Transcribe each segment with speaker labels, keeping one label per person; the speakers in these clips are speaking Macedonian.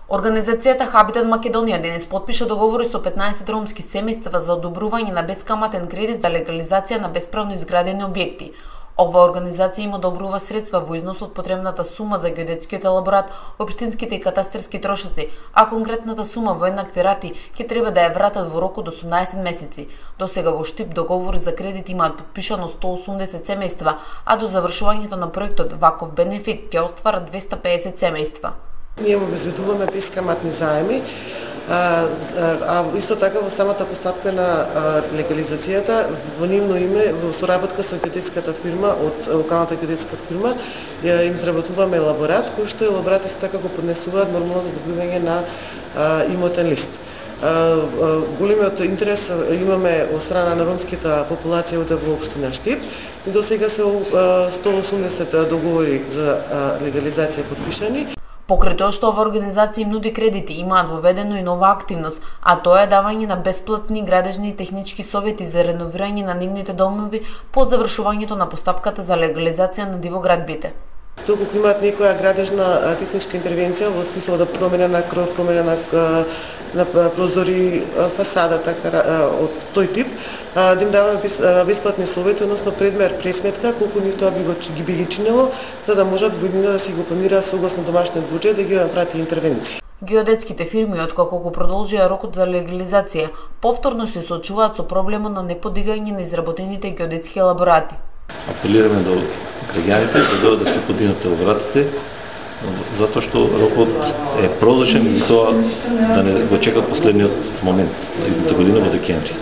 Speaker 1: Организацијата Хабитат Македонија денес потпиша договори со 15 ромски семејства за одобрување на бескаматен кредит за легализација на бесправно изградени објекти. Оваа организација им одобрува средства во износ од потребната сума за геодетскиот елаборат, општинските и катастерски трошоци, а конкретната сума во еднакви рати ќе треба да ја вратат во рок од 18 месеци. До сега во Штип договори за кредит имаат потпишано 180 семејства, а до завршувањето на проектот ваков бенефит ќе остварат 250 семејства.
Speaker 2: Ние обезбедуваме бескаматни заеми, а исто така во самата постапка на легализацијата, во нивно име, во соработка со геодетската фирма, од локалната геодетска фирма, им изработуваме елаборат, кој што елаборат исто така го поднесуваат нормално за добивање на имотен лист. Големиот интерес имаме од страна на ромската популација во општина Штип и до сега се 180 договори за легализација подпишани.
Speaker 1: Покрај тоа што ова организација им нуди кредити, имаат воведено и нова активност, а тоа е давање на бесплатни градежни и технички совети за реновирање на нивните домови по завршувањето на постапката за легализација на дивоградбите.
Speaker 2: Доколку имаат некоја градежна техничка интервенција во смисла да промена на кров, промена на прозори, фасада, така од тој тип, да им даваме бесплатни совети, односно предмер пресметка колку нив тоа би ги чинело, за да можат во иднина да си го планираат согласно домашниот буџет да ги направат интервенции.
Speaker 1: Геодетските фирми, откако го продолжија рокот за легализација, повторно се соочуваат со проблемот на неподигање на изработените геодетски елаборати.
Speaker 3: Апелираме до граѓаните да додат да се подигнат елаборатите, затоа што рокот е продолжен и тоа да не го чекат последниот момент, идната година во декември.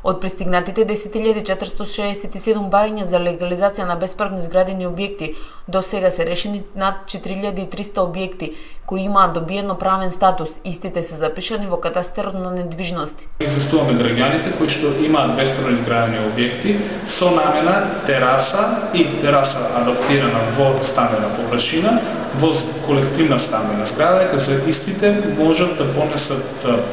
Speaker 1: Од пристигнатите 10.467 барања за легализација на бесправно изградени објекти, до сега се решени над 4.300 објекти кои имаат добиено правен статус. Истите се запишани во катастерот на недвижности.
Speaker 4: Известуваме граѓаните кои што имаат бесправно изградени објекти со намена тераса и тераса адаптирана во стambена површина, во колективна стambена зграда, дека за истите можат да понесат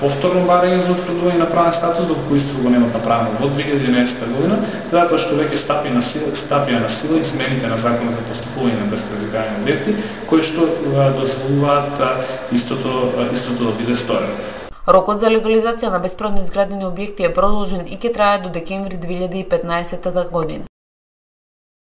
Speaker 4: повторно барање за утврдување на правен статус, доколку исто го немат направено во 2011 година, затоа што веќе стапија на сила измените на законот за постапување на бесправно изградени објекти, кои што дозволуваат истото да биде сторено.
Speaker 1: Рокот за легализација на бесправно изградени објекти е продолжен и ќе трае до декември 2015 година.